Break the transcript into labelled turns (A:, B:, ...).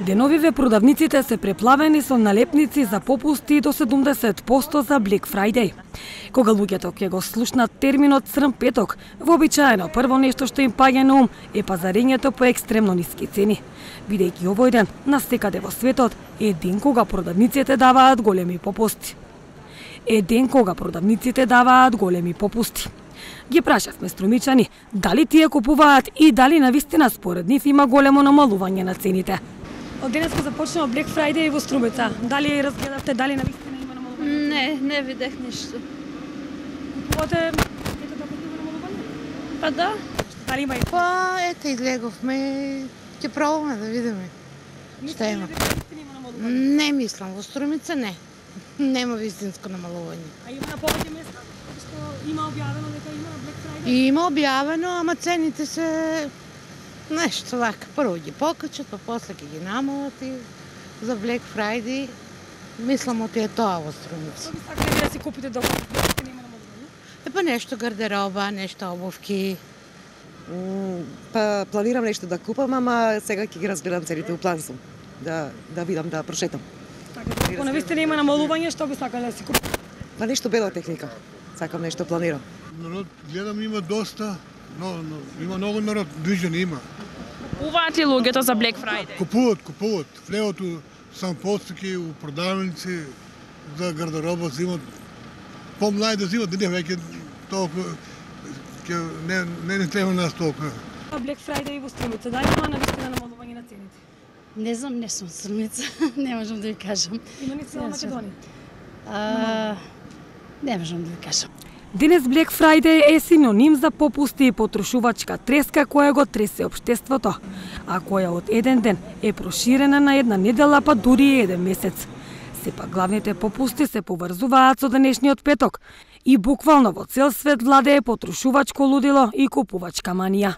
A: Деновиве продавниците се преплавени со налепници за попусти до 70% за Black Friday. Кога луѓето ќе го слушнат терминот црн петок, вообичаено прво нешто што им паѓа на ум е пазарењето по екстремно ниски цени. Бидејќи овој ден насекаде во светот е ден кога продавниците даваат големи попусти. Ги прашавме струмичани дали тие купуваат и дали навистина според нив има големо намалување на цените. Од денеска започнува Black Friday во Струмица. Дали разгледавте, дали навистина има намалување?
B: Не видях ништо.
A: Купувате ето така има намалување?
B: Па да.
A: Дали има и?
C: Па ето излеговме, ќе пробаме да видиме што има. Не мислам, во Струмица не. Нема вистинско намалување.
A: А има на повеќе места што има објавено дека има Black Friday?
C: Има објавено, ама цените се нешто вака. Прво ги покачат, па после ќе ги намалат и за Black Friday мислам оти е тоа во Струмица.
A: Што би сакале да си купите докато вистина има намалување?
C: Па нешто гардероба, нешто обувки.
D: Па планирам нешто да купам, ама сега ќе ги разгледам цените, у план сум. Да видам, да прошетам.
A: Ако навистина има намалување, што би сакале да си купите?
D: Па нешто бела техника. Сакам нешто планирам.
E: Народ, гледам има доста, но има многу народ, движен има.
B: Купуваат ли луѓето за Black Friday?
E: Купуват. Влеото сам постики, у продавници, за гардероба взимат. Помлади да взимат, не веќе толку, не треба нас толку.
A: Black Friday во Струмица, дали има навистина намалување на цените?
F: Не знам, не сум Струмица, не можам да ви кажам.
A: Има ли цела Македонија?
F: Не можам да ви кажам.
A: Денес Black Friday е синоним за попусти и потрошувачка треска која го тресе општеството, а која од еден ден е проширена на една недела па дури еден месец. Сепак главните попусти се поврзуваат со денешниот петок и буквално во цел свет владее потрошувачко лудило и купувачка манија.